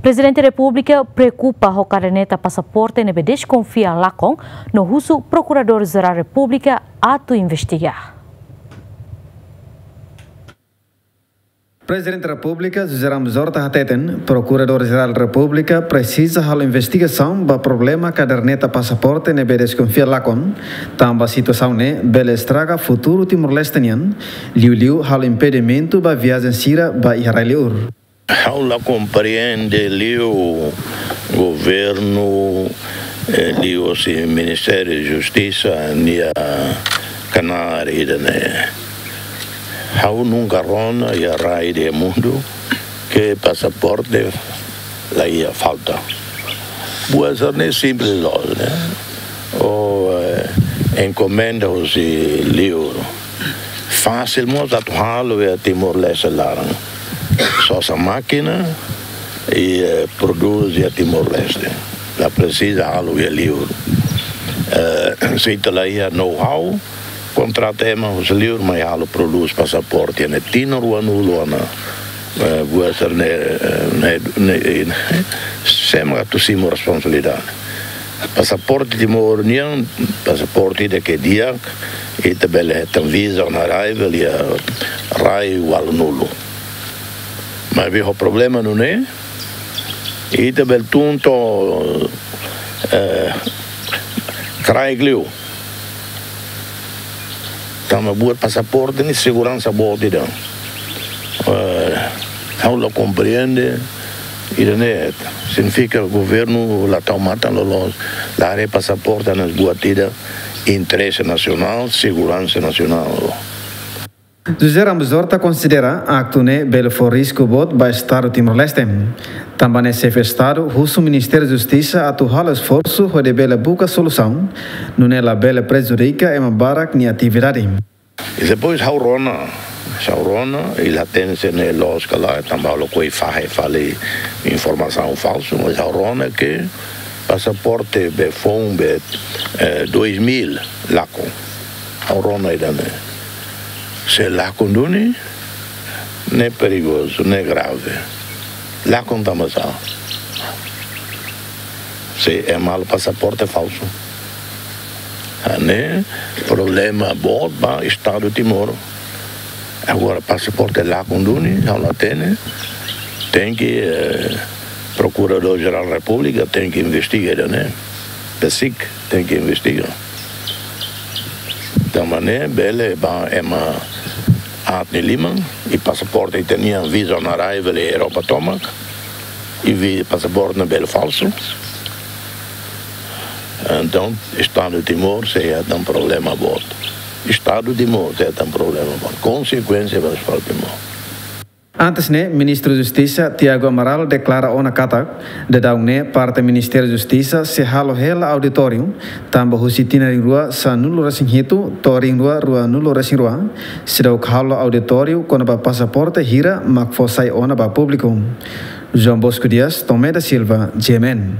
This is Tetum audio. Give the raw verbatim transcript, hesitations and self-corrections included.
Prezidente Repúblika preokupa ho kaderneta pasaporte ne'ebé deskonfia lakon, no husu Prokuradór Jerál Repúblika atu investiga. Prezidente Repúblika José Ramos Horta hateten, Prokuradór Jerál Repúblika presiza halo investigasaun ba problema kaderneta pasaporte ne'ebé deskonfia lakon, tanba situasaun ne'e bele estraga futuru Timor-Leste nian, liuliu halo impedimentu ba viajen sira ba iha rai-liur. Ha'u la komprende liu governu, eh, liuhosi Ministériu Justisa nia knaar ida-ne'e. Ha'u nunka rona iha rai iha mundu ke pasaporte la iha falta. Buat sira-ne'e simples loos, ne'e. Ou, eh, enkomenda husi liur. Fasil mós atu halo iha Timor-Leste laran. Sosa mákina i, eh, prodús iha Timor-Leste. La presiza halo iha liur. Eh, se ita la iha know-how, kontrata ema husi liur mai halo, prodús pasaporte ne'e tinan ruanulu ona. Eh, buat sira-ne'e, eh, ne'e, ne'e, ne'e, sé mak atu simu responsabilidade? Pasaporte Timor nian, pasaporte ida ke di'ak, ita bele hetan visa on arrival iha rai ualunulu. Maibé ho problema nune'e, ita bele tun to'o, eh, kraik liu. Tanba buat pasaporte ne'e seguransa boot ida. Eh, ha'u la komprende, ida-ne'e signifika governu la tau matan loloos, la haree pasaporte hanesan buat ida interese nasionál, seguransa nasionál. José Ramos Horta konsidera aktu ne'e bele fó risku boot ba Estadu Timor-Leste. Tanba ne'e xefe Estadu husu Ministériu Justisa atu halo esforsu hodi bele buka solusaun, nune'e labele prejudika ema barak nia atividade. I depois ha'u rona, ha'u rona, i la hatene se ne'e loos ka lae, tanba ha'u lakohi fahe fali informasaun falsu, mas ha'u rona ke pasaporte be foun be, eh, dois mil lakon. Ha'u rona ida-ne'e. Se lakon duni, ne'e perigozu, ne'e grave. Lakon tanba sá? Se ema halo pasaporte falsu. Ah, ne'e problema boot ba Estadu Timor. Agora, pasaporte lakon duni, ha'u la hatene, tenke, eh, Prokuradór Jerál Repúblika tenke investiga ida-ne'e. PACIC tenke investiga. Tanba ne'e bele ba ema aat nia liman, i pasaporte ita-nian visa on arrival iha Europa tomak, i vi-, pasaporte ne'e bele falsu. Entaun, Estadu Timor sei hetan problema boot. Estadu Timor sei hetan problema boot. Konsekuénsia ba Estadu Timor. Antes ne'e, Ministru Justisa Tiago Amaral deklara ona katak, daudaun ne'e parte Ministériu Justisa sei halo hela auditóriu, tanba husi tinan rihun rua sanulu-resin-hitu to'o rihun rua ruanulu-resin-rua, seidauk halo auditóriu kona-ba pasaporte hira mak fó sai ona ba públiku. João Bosco Dias, Tomé da Silva, G M N.